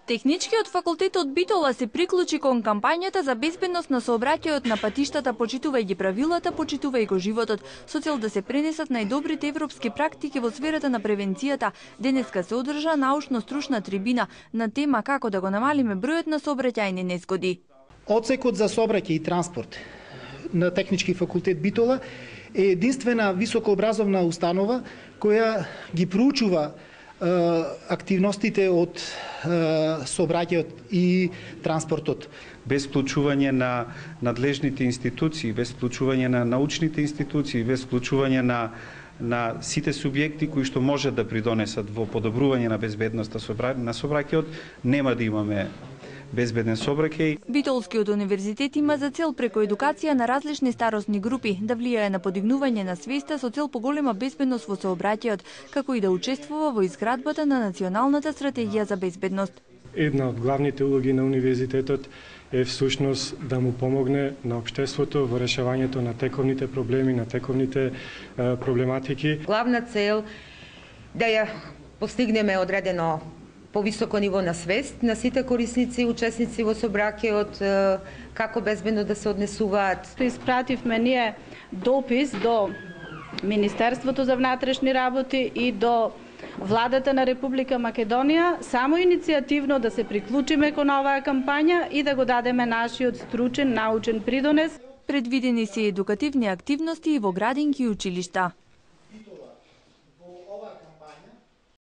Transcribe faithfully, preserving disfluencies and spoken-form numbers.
Техничкиот факултет од Битола се приклучи кон кампањата за безбедност на сообраќајот на патиштата, почитувај ги правилата, почитувај го животот, со цел да се пренесат најдобрите европски практики во сферата на превенцијата. Денеска се одржа научно-стручна трибина на тема како да го намалиме бројот на сообраќајни незгоди. Одсекот за сообраќај и транспорт на Технички факултет Битола е единствена високообразовна установа која ги проучува активностите од сообраќајот и транспортот. Без вклучување на надлежните институции, без вклучување на научните институции, без вклучување на на сите субјекти кои што може да придонесат во подобрување на безбедноста на сообраќајот, нема да имаме безбеден сообраќај. Битолскиот универзитет има за цел преку едукација на различни старосни групи да влијае на подигнување на свеста со цел поголема безбедност во сообраќајот, како и да учествува во изградбата на националната стратегија за безбедност. Една од главните улоги на универзитетот е всушност да му помогне на општеството во решавањето на тековните проблеми, на тековните е, проблематики. Главна цел да ја постигнеме одредено повисоко ниво на свест на сите корисници и учесници во сообраќајот, како безбедно да се однесуваат. Испративме ние допис до Министерството за внатрешни работи и до Владата на Република Македонија, само иницијативно да се приклучиме кон оваа кампања и да го дадеме нашиот стручен научен придонес. Предвидени се едукативни активности и во градинки и училишта.